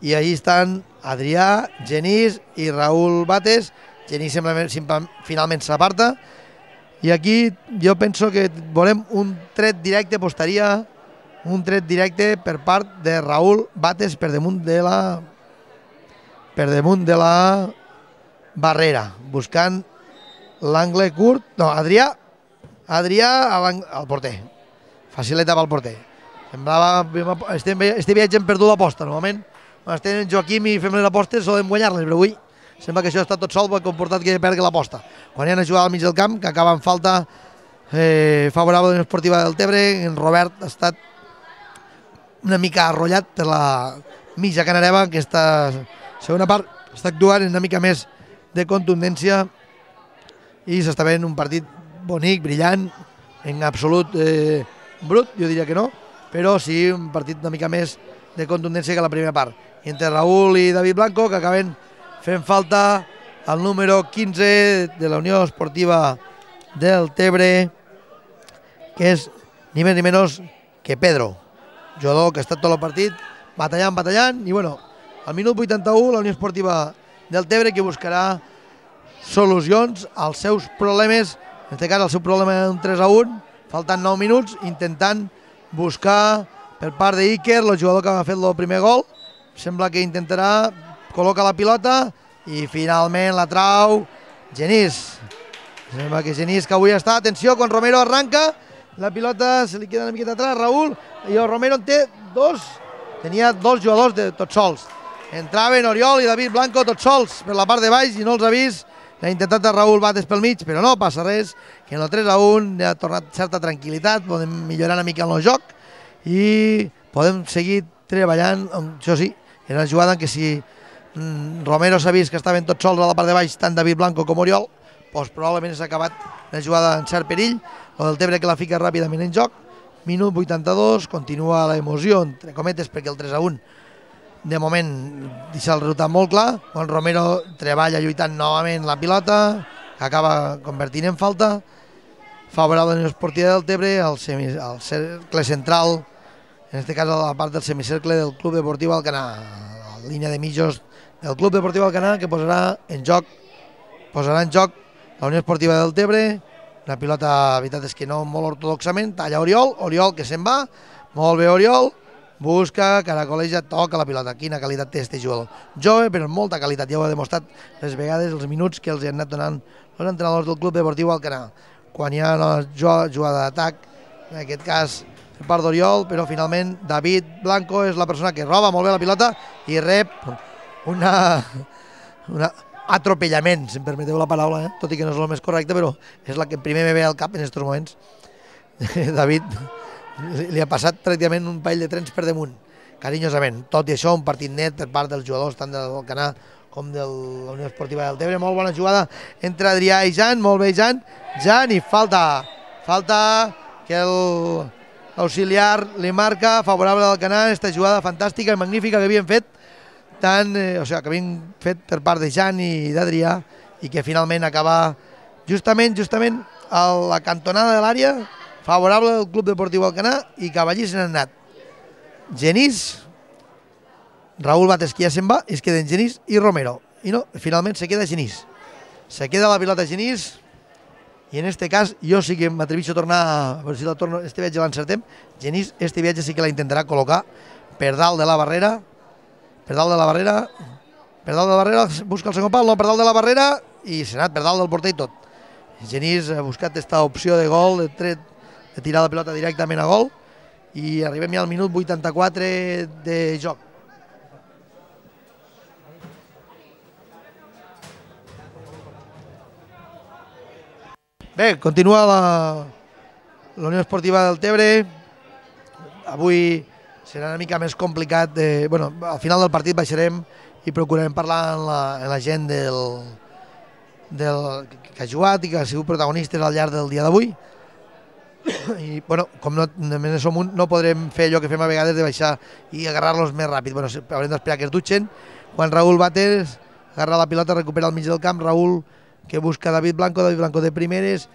S1: i allí estan Adrià, Genís i Raül Bates. Genís finalment s'aparta, i aquí jo penso que veurem un tret directe, postaria un tret directe per part de Raül Bates per damunt de la barrera, buscant l'angle curt. No, Adrià al porter, facileta pel porter. Semblava, este viatge hem perdut l'aposta. Normalment, quan estem en Joaquim i fem les apostes solem guanyar-les, però avui sembla que això està tot sol, ha comportat que perdi l'aposta. Quan hi ha una jugada al mig del camp, que acaba en falta favorable a la Unió Esportiva del Deltebre, en Robert ha estat una mica arrollat per la mitja canareva. Aquesta segona part està actuant una mica més de contundència i s'està veient un partit bonic, brillant, en absolut brut, jo diria que no, però sí un partit una mica més de contundència que la primera part. I entre Raül i David Blanco, que acaben fent falta al número 15 de la Unió Esportiva del Deltebre, que és ni més ni menys que Pedro, jugador que ha estat tot el partit batallant, i bueno, al minut 81 la Unió Esportiva del Deltebre, que buscarà solucions als seus problemes, en aquest cas el seu problema d'un 3-1, faltant 9 minuts, intentant buscar per part d'Iker, el jugador que ha fet el primer gol. Sembla que intentarà col·locar la pilota i finalment la trau Genís. Sembla que Genís, que avui està, atenció, quan Romero arranca, la pilota se li queda una miqueta atrás, Raül, i el Romero en té dos, tenia dos jugadors de tots sols. Entraven Oriol i David Blanco tots sols per la part de baix i no els ha vist. L'ha intentat a Raül Bates pel mig, però no passa res, que en el 3-1 ha tornat certa tranquil·litat, podem millorar una mica en el joc i podem seguir treballant. Això sí, era una jugada en què si Romero s'ha vist que estaven tots sols a la part de baix, tant David Blanco com Oriol, doncs probablement s'ha acabat la jugada en cert perill. El Deltebre que la fica ràpidament en joc. Minut 82, continua l'emoció, entre cometes, perquè el 3-1 de moment deixa el resultat molt clar, quan Romero treballa lluitant novament la pilota, que acaba convertint en falta, favorable a la Unió Esportiva del Deltebre, al cercle central, en aquest cas a la part del semicercle del Club Deportiu Alcanar, la línia de mitjos del Club Deportiu Alcanar, que posarà en joc la Unió Esportiva del Deltebre. Una pilota, la veritat és que no molt ortodoxament, talla Oriol que se'n va, molt bé Oriol, busca, caracoleja, toca la pilota. Quina qualitat té este jugador. Jove, però molta qualitat, ja ho ha demostrat les vegades, els minuts que els han anat donant els entrenadors del Club Deportiu Alcanar. Quan hi ha una jugada d'atac, en aquest cas per part d'Oriol, però finalment David Blanco és la persona que roba molt bé la pilota i rep un atropellament, si em permeteu la paraula, tot i que no és el més correcte, però és la que primer me ve al cap en aquests moments. David li ha passat pràcticament un parell de trens per damunt, carinyosament. Tot i això, un partit net per part dels jugadors, tant del Alcanar com de la Unió Esportiva del Deltebre. Molt bona jugada entre Adrià i Jan, molt bé Jan, i falta que l'auxiliar li marca favorable al Alcanar, aquesta jugada fantàstica i magnífica que havien fet que havien fet per part de Jan i d'Adrià, i que finalment acaba justament a la cantonada de l'àrea favorable al Club Deportiu Alcanar, i cap allí se n'han anat Genís, Raül Bates, que ja se'n va, i es queden Genís i Romero, i no, finalment se queda Genís, se queda la pilota Genís, i en este cas jo sí que m'atreveixo a tornar, a veure si la torno, este viatge l'encertem. Genís este viatge sí que la intentarà col·locar per dalt de la barrera, busca el segon pal, no, per dalt de la barrera, i s'ha anat per dalt del porter i tot. Genís ha buscat aquesta opció de gol, de tirar la pilota directament a gol, i arribem ja al minut 84 de joc. Bé, continua la Unió Esportiva del Deltebre avui serà una mica més complicat. Bueno, al final del partit baixarem i procurarem parlar amb la gent que ha jugat i que ha sigut protagonistes al llarg del dia d'avui. I, bueno, com només som un, no podrem fer allò que fem a vegades de baixar i agarrar-los més ràpid. Bueno, haurem d'esperar que es dutxen. Quan Raúl Bates agarra la pilota, recupera al mig del camp, Raúl que busca David Blanco de primeres,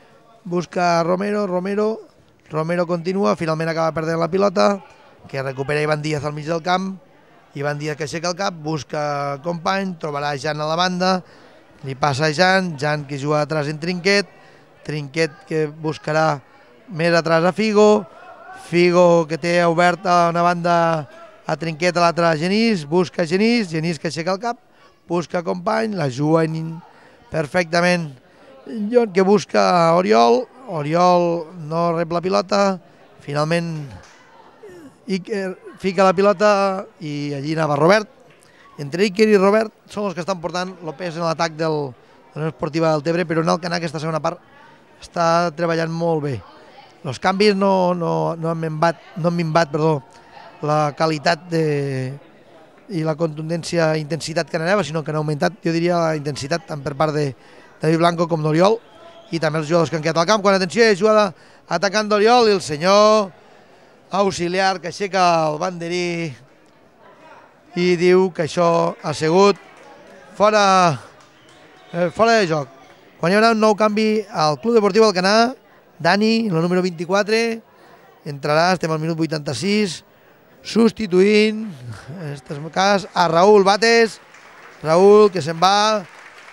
S1: busca Romero, Romero continua, finalment acaba perdent la pilota, que recupera Ivan Díaz al mig del camp, Ivan Díaz que aixeca el cap, busca company, trobarà Jan a la banda, li passa a Jan que juga atrás en Trinquet que buscarà més atrás a Figo que té obert a una banda a Trinquet, a l'altra a Genís, busca Genís que aixeca el cap, busca company, la juga perfectament John que busca Oriol no rep la pilota, finalment Iker fica la pilota i allí anava Robert. Entre Iker i Robert són els que estan portant el pes en l'atac de la Unió Esportiva del Tebre, però en el Canà aquesta segona part està treballant molt bé. Els canvis no han minvat la qualitat i la contundència i intensitat que anava, sinó que han augmentat, jo diria, la intensitat tant per part de David Blanco com d'Oriol i també els jugadors que han quedat al camp. Quan atenció, jugada atacant d'Oriol i el senyor auxiliar que aixeca el banderí i diu que això ha sigut fora de joc. Quan hi haurà un nou canvi al Club Deportiu Alcanar, Dani, el número 24, entrarà, estem al minut 86, substituint, en aquest cas, a Raúl Bates. Raúl que se'n va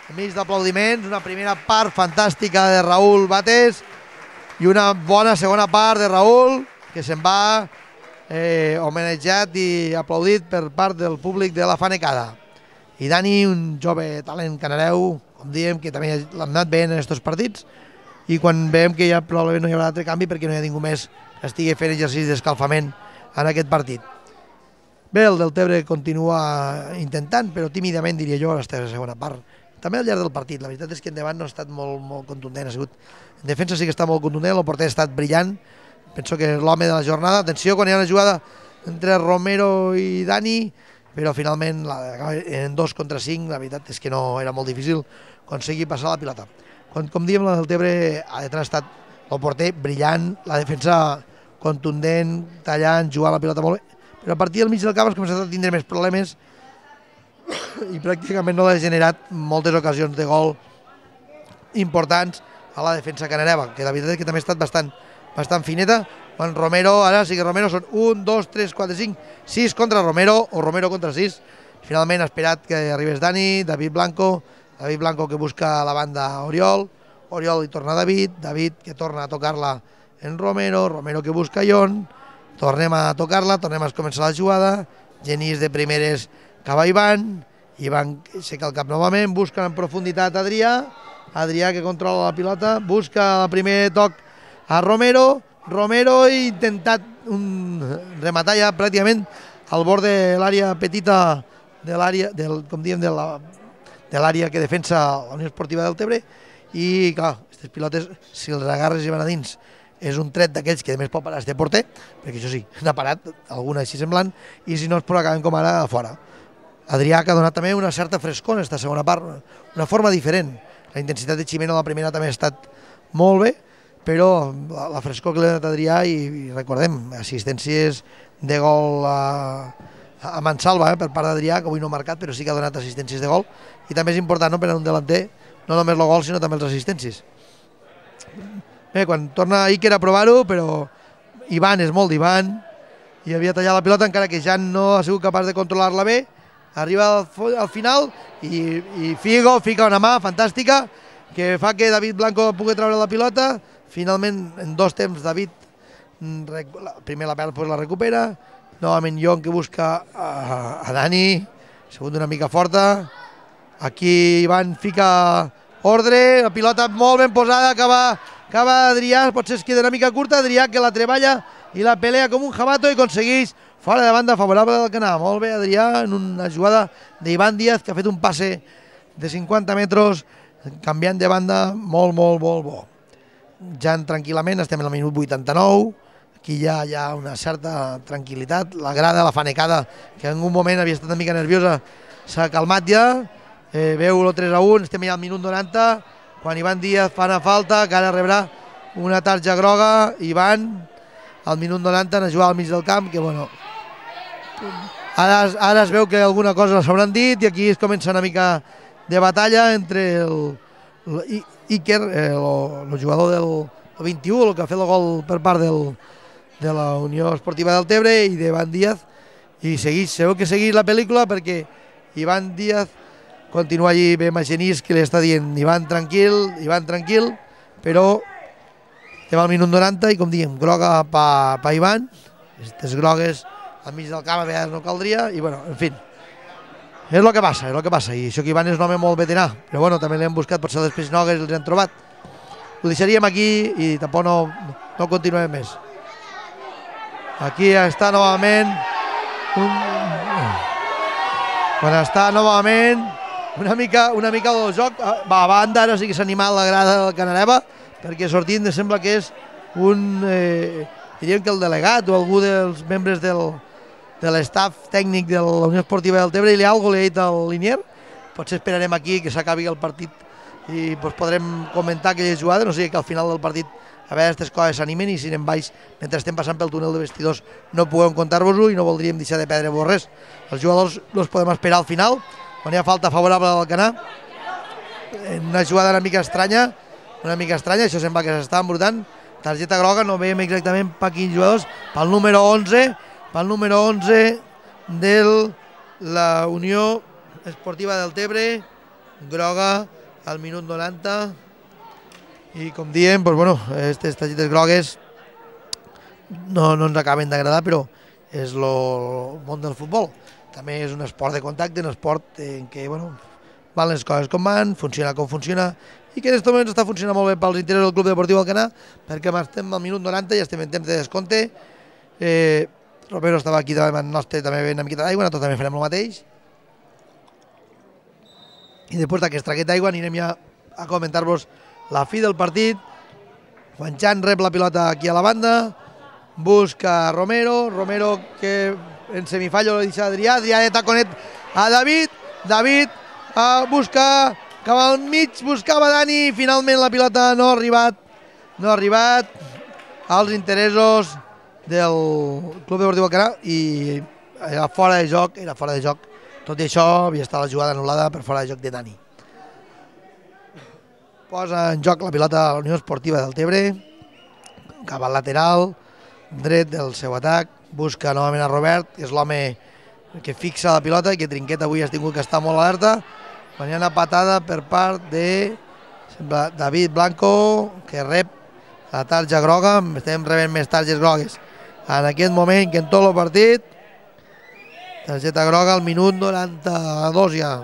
S1: enmig d'aplaudiments, una primera part fantàstica de Raúl Bates i una bona segona part de Raúl que se'n va homenatjat i aplaudit per part del públic de la Fanecada. I Dani, un jove talent canareu, com diem, que també l'ha anat bé en aquests partits, i quan veiem que ja probablement no hi haurà altre canvi perquè no hi ha ningú més que estigui fent exercici d'escalfament en aquest partit. Bé, el del Tebre continua intentant, però tímidament diria jo, a la segona part. També al llarg del partit, la veritat és que endavant no ha estat molt contundent, ha sigut... En defensa sí que està molt contundent, el porter ha estat brillant, penso que és l'home de la jornada. Atenció, quan hi ha una jugada entre Romero i Dani, però finalment en 2 contra 5, la veritat és que no era molt difícil aconseguir passar la pilota. Com diem, el Tebre ha estat el porter brillant, la defensa contundent, tallant, jugant la pilota molt bé, però a partir del mig del camp has començat a tindre més problemes i pràcticament no ha generat moltes ocasions de gol importants a la defensa canareva, que la veritat és que també ha estat bastant fineta. Quan Romero, ara sí que Romero són 1, 2, 3, 4, 5, 6 contra Romero o Romero contra 6. Finalment ha esperat que arribés Dani, David Blanco que busca a la banda Oriol li torna a David que torna a tocar-la en Romero que busca Jon, tornem a tocar-la, tornem a començar la jugada, Genís de primeres acaba Ivan aixeca el cap novament, busca en profunditat Adrià que controla la pilota, busca el primer toc a Romero ha intentat rematar ja pràcticament al bord de l'àrea petita de l'àrea, com diem, de l'àrea que defensa la Unió Esportiva del Tebre i clar, aquestes pilotes si els agarres i van a dins és un tret d'aquells que més pot parar este porter, perquè això sí, n'ha parat alguna així semblant i si no es pot acabar com ara a fora. Adrià que ha donat també una certa frescor en aquesta segona part, una forma diferent. La intensitat de Ximeno a la primera també ha estat molt bé, però la frescor que li ha donat Adrià i recordem, assistències de gol a mansalva per part d'Adrià, que avui no ha marcat, però sí que ha donat assistències de gol i també és important per a un delanter, no només el gol sinó també les assistències. Bé, quan torna Iker a provar-ho, però Ivan és molt d'Ivan i havia tallat la pilota encara que ja no ha sigut capaç de controlar-la bé, arriba al final i Figo fica una mà fantàstica que fa que David Blanco pugui treure la pilota. Finalment, en 2 temps, David primer la perd, després la recupera. Novament Jon que busca a Dani, segunda una mica forta. Aquí Ivan fica ordre, la pilota molt ben posada, acaba Adrià, potser es queda una mica curta, Adrià que la treballa i la pelea com un jabato i aconsegueix fora de banda favorable del Canà. Molt bé Adrià en una jugada d'Ivan Díaz que ha fet un passe de 50 metres canviant de banda molt bo. Ja tranquil·lament estem en el minut 89, Aquí hi ha una certa tranquil·litat. La grada, la fanecada, que en un moment havia estat una mica nerviosa, s'ha calmat ja. Veu el 3-1, estem ja al minut 90, quan Ivan Díaz fa una falta, que ara rebrà una tarja groga. Ivan, al minut 90, a jugar al mig del camp, que bueno, ara es veu que alguna cosa s'hauran dit, i aquí es comença una mica de batalla entre Iker, el jugador del 21, el que ha fet el gol per part de la Unió Esportiva Deltebre, i d'Ivan Díaz, i sabeu que segueix la pel·lícula perquè Ivan Díaz continua allí bé amb Genís, que li està dient Ivan tranquil, però estem al minut 90 i, com diem, groga pa Ivan. Aquestes grogues al mig del camp a vegades no caldria, i bueno, en fi, és el que passa, i això que Ivan és un home molt veterà, però bueno, també l'hem buscat, potser les peixnogues els han trobat. Ho deixaríem aquí i tampoc no continuem més. Aquí està novament una mica del joc va a banda. Ara sí que s'ha animat la grada del Canareva, perquè sortint sembla que és diríem que el delegat o algú dels membres de l'estaf tècnic de la Unió Esportiva Deltebre, i algú li ha dit al Linier. Potser esperarem aquí que s'acabi el partit i podrem comentar aquelles jugades, no sé, que al final del partit a veure aquestes coses s'animen, i si anem baix mentre estem passant pel túnel de vestidors no puguem contar-vos-ho, i no voldríem deixar de perdre-vos res. Els jugadors els podem esperar al final, quan hi ha falta favorable al Canà, una jugada una mica estranya, això sembla que s'està embrutant, targeta groga, no veiem exactament per quins jugadors, pel número 11 de la Unió Esportiva Deltebre, groga al minut 90, i com diem, aquestes targetes grogues no ens acaben d'agradar, però és el món del futbol. També és un esport de contacte, un esport en què van les coses com van, funciona com funciona, i que en aquest moment està funcionant molt bé pels interessos del Club Deportiu Alcanar, perquè estem al minut 90 i estem en temps de descompte. Romero estava aquí davant nostre, també bevent una miqueta d'aigua, nosaltres també farem el mateix. I després d'aquesta traqueta d'aigua anirem ja a comentar-vos la fi del partit. Juan Chan rep la pilota aquí a la banda, busca Romero que en semifallo lo deixa Adrià de taconet a David busca cap al mig, buscava Dani, finalment la pilota no ha arribat als interessos del Club Deportiu Alcanar, i era fora de joc. Tot i això havia estat la jugada anul·lada per fora de joc de Dani. Posa en joc la pilota a la Unió Esportiva Deltebre, cap al lateral dret del seu atac, busca novament a Robert, que és l'home que fixa la pilota i que Trinquet avui ha tingut que estar molt alerta. Quan hi ha una patada per part de David Blanco, que rep la tarja groga. Estem rebent més targes grogues en aquest moment que en tot el partit. Targeta groga al minut 92 ja.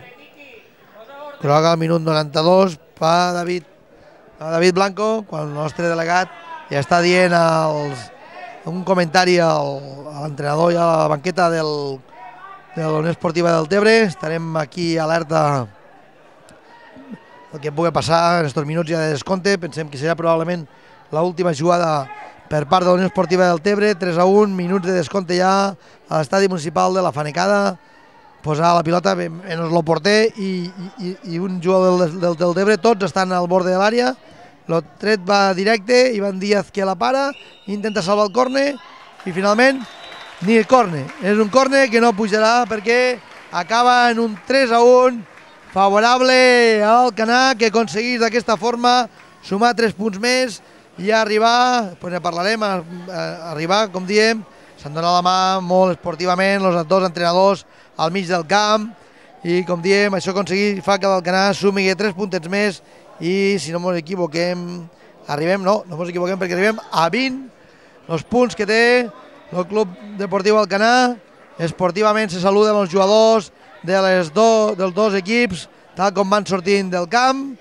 S1: Groga al minut 92 per David Blanco, quan el nostre delegat ja està dient un comentari a l'entrenador i a la banqueta de la Unió Esportiva Deltebre. Estarem aquí alerta el que pugui passar en aquests minuts ja de descompte. Pensem que serà probablement l'última jugada per part de la Unió Esportiva Deltebre. 3-1, minuts de descompte ja a l'estadi municipal de la Fanecada. Posar la pilota en el porter i un jugador del Deltebre, tots estan al bord de l'àrea. El tret va directe, Ivan Díaz que la para, intenta salvar el córner i finalment ni el córner. És un córner que no pujarà perquè acaba en un 3-1 favorable al Alcanar, que aconsegueix d'aquesta forma sumar 3 punts més i arribar, ne parlarem, arribar, com diem, s'han donat la mà molt esportivament els dos entrenadors al mig del camp, i com diem, això fa que l'Alcanar sumi 3 puntets més, i si no ens equivoquem no ens equivoquem perquè arribem a 20 els punts que té el Club Deportiu Alcanar. Esportivament se saluden els jugadors dels dos equips tal com van sortint del camp.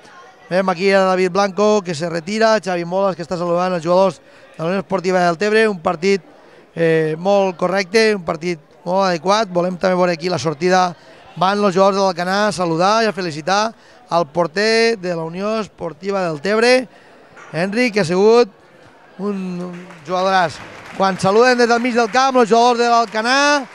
S1: Veiem aquí a David Blanco que se retira, Xavi Molas que està saludant els jugadors de la Unió Esportiva del Deltebre. Un partit molt correcte, un partit molt adequat. Volem també veure aquí la sortida, van els jugadors de l'Alcanar a saludar i a felicitar al porter de la Unió Esportiva del Deltebre, Enric, que ha sigut un jugadoràs. quan saluden des del mig del camp els jugadors de l'Alcanar.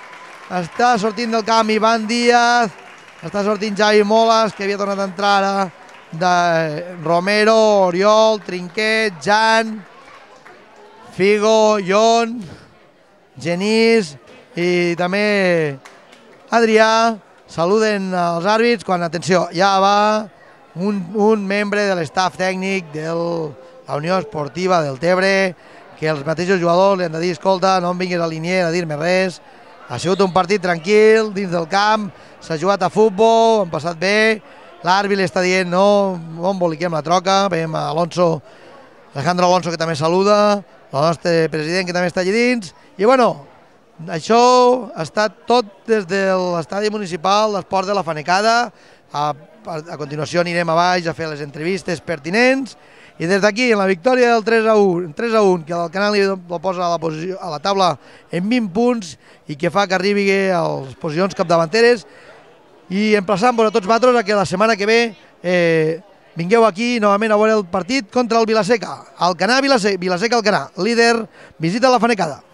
S1: Està sortint del camp Ivan Díaz, està sortint Javi Molas, que havia tornat a entrar ara, de Romero, Oriol, Trinquet, Jan, Figo, Jon, Genís i també Adrià. Saluden els àrbits quan, atenció, ja va un membre de l'estaf tècnic de la Unió Esportiva del Tebre, que els mateixos jugadors li han de dir, escolta, no em vinguis a l'Inier a dir-me res, ha sigut un partit tranquil, dins del camp, s'ha jugat a futbol, han passat bé, l'àrbit li està dient no emboliquem la troca, veiem a Alejandro Alonso, que també saluda, el nostre president, que també està allà dins, i bueno, això ha estat tot des de l'estadi municipal d'Esports de la Fanecada. A continuació anirem a baix a fer les entrevistes pertinents i des d'aquí, en la victòria del 3-1, que el Canal lo posa a la taula en 20 punts i que fa que arribi a les posicions capdavanteres, i emplaçant-vos a tots vosaltres a que la setmana que ve vingueu aquí novament a veure el partit contra el Vilaseca. Alcanar, Vilaseca, Alcanar, líder, visita la Fanecada.